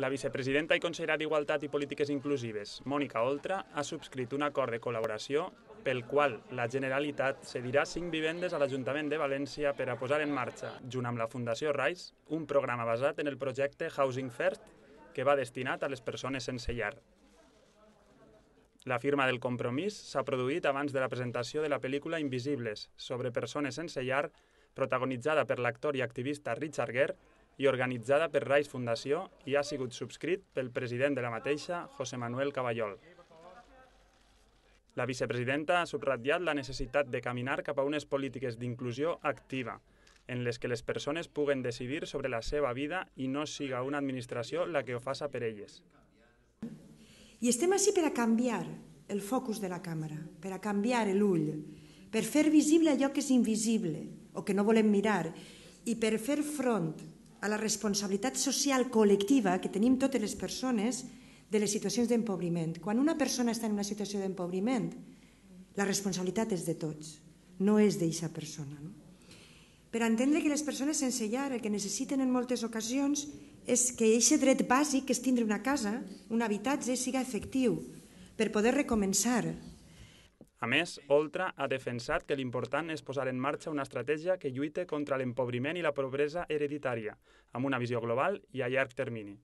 La vicepresidenta i consellera d'Igualtat i Polítiques Inclusives, Mònica Oltra, ha subscrit un acord de col·laboració pel qual la Generalitat cedirà 5 vivendes a l'Ajuntament de València per a posar en marxa, junt amb la Fundació RISE, un programa basat en el projecte Housing First, que va destinat a les persones sense llar. La firma del compromís s'ha produït abans de la presentació de la pel·lícula Invisibles, sobre persones sense llar, protagonitzada per l'actor i activista Richard Gere i organitzada per RISE Fundació i ha sigut subscrit pel president de la mateixa, José Manuel Caballol. La vicepresidenta ha subratllat la necessitat de caminar cap a unes polítiques d'inclusió activa, en les que les persones puguen decidir sobre la seva vida i no siga una administració la que ho faça per elles. I estem ací per a canviar el focus de la càmera, per a canviar l'ull, per fer visible allò que és invisible o que no volem mirar i per fer front a la responsabilitat social col·lectiva que tenim totes les persones de les situacions d'empobriment. Quan una persona està en una situació d'empobriment, la responsabilitat és de tots, no és d'eixa persona. Per entendre que les persones sense llar el que necessiten en moltes ocasions és que aquest dret bàsic, que és tindre una casa, un habitatge, siga efectiu per poder recomençar. A més, Oltra ha defensat que l'important és posar en marxa una estratègia que lluite contra l'empobriment i la pobresa hereditària, amb una visió global i a llarg termini.